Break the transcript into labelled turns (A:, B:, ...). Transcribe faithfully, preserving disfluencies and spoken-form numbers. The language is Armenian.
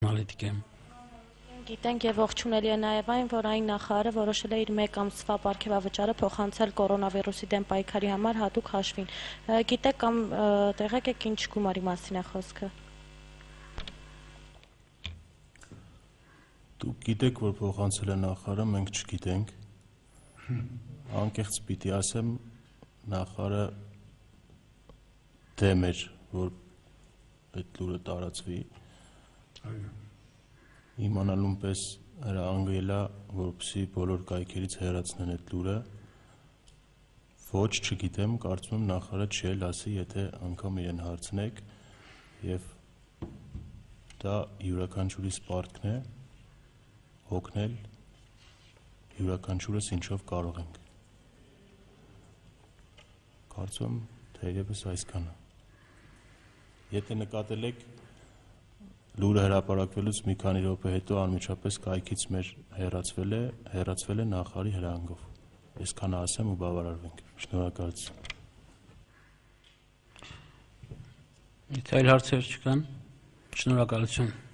A: անալիտիկ եմ։
B: Գիտենք եւ ողջունելի է նաեւ այն, որ այն նախարարը որոշել է իր մեկ ամսվա պարգևավճարը փոխանցել կորոնավիրուսի դեմ պայքարի համար հատուկ հաշվին։ Գիտեք կամ տեղեկ եք ինչ գումարի մասին է խոսքը։
C: Դուք գիտեք, որ փոխանցել է նախարարը, մենք չգիտենք։ Անկեղծ պիտի ասեմ, նախարարը դեմ էր, որ այդ լուրը տարածվի։ Իմանալուն պես հրահանգել է, որպեսզի բոլոր կայքերից հեռացնեն այդ լուրը։ Ոչ, չգիտեմ, կարծում եմ նախարարը չի էլ ասի, եթե անգամ իրեն հարցնեք, եւ դա յուրաքանչյուրի սպարտքն է հոգնել յուրաքանչյուրս ինչով կարող ենք։ Կարծում եմ թերևս այսքանը։ Եթե նկատել եք, լուրը հրապարակվելուց մի քանի րոպե հետո անմիջապես կայքից մեր հեռացվել է, հեռացվել է նախարարի հրահանգով։ Այսքանը ասեմ ու բավարարվենք։ Շնորհակալություն։
A: Եթե այլ հարցեր չկան, շնորհակալություն։